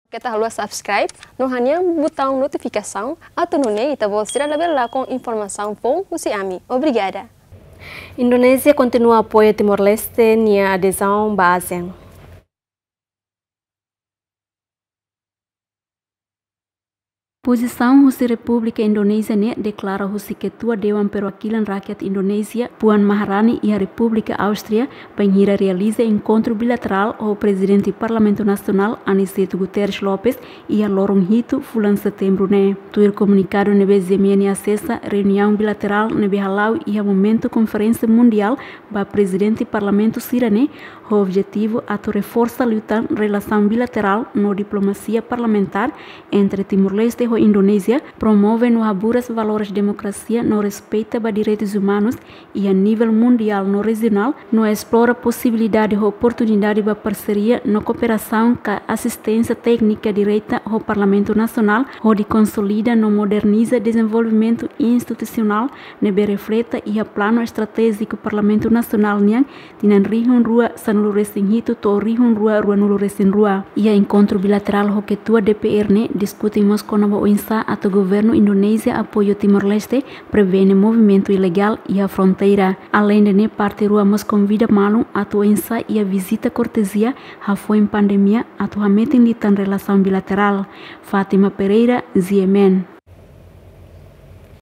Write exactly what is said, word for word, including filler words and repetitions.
Keta haluha subscribe no hanehan butaun notifikasaun atu nune'e ita-boot sira labele lakon informasaun foun husi ami. Obrigada. Indonézia kontinua apoia Timor-Leste nia adezaun ba ASEAN. Pozisaun husi Repúblika Indonézia ne'e deklara husi Ketua Dewan Perwakilan Rakyat Indonézia, Puan Maharani, iha Repúblika Áustria, bainhira realiza enkontru bilaterál ho Prezidente Parlamentu Nasionál, Aniceto Guterres Lopes, iha loron hitu fulan Setembru ne'e. Tuir komunikadu ne'ebé GMN asesa, reuniaun bilaterál ne'ebé hala'o iha momentu konferénsia mundiál ba prezidente parlamentu sira-ne'e, ho objetivu atu reforsa liután relasaun bilaterál no diplomasia parlamentár entre Timor-Leste ho Indonézia, promove no haburas valores demokrasia no respeita ba direitus umanus iha nivel mundiál no rejionál, no esplora posibilidade ho oportunidade ba parseria no kooperasaun ka asisténsia téknika direta ho Parlamentu Nasionál, hodi konsolida no moderniza dezenvolvimentu institusionál ne'ebé refleta iha Planu Estratéjiku Parlamentu Nasionál nian tinan rihun rua sanulu resin hitu to'o rihun rua ruanulu resin rua. Iha enkontru bilaterál ho Ketua DPR ne'e diskute mós kona-ba oinsá atu governu Indonézia apoia Timor-Leste prevene movimentu ilegál iha fronteira. Aleinde ne'e, parte rua mós konvida malu atu oinsá iha vizita kortezia hafoin pandemia atu hametin liután relasaun bilaterál. Fátima Pereira, GMN.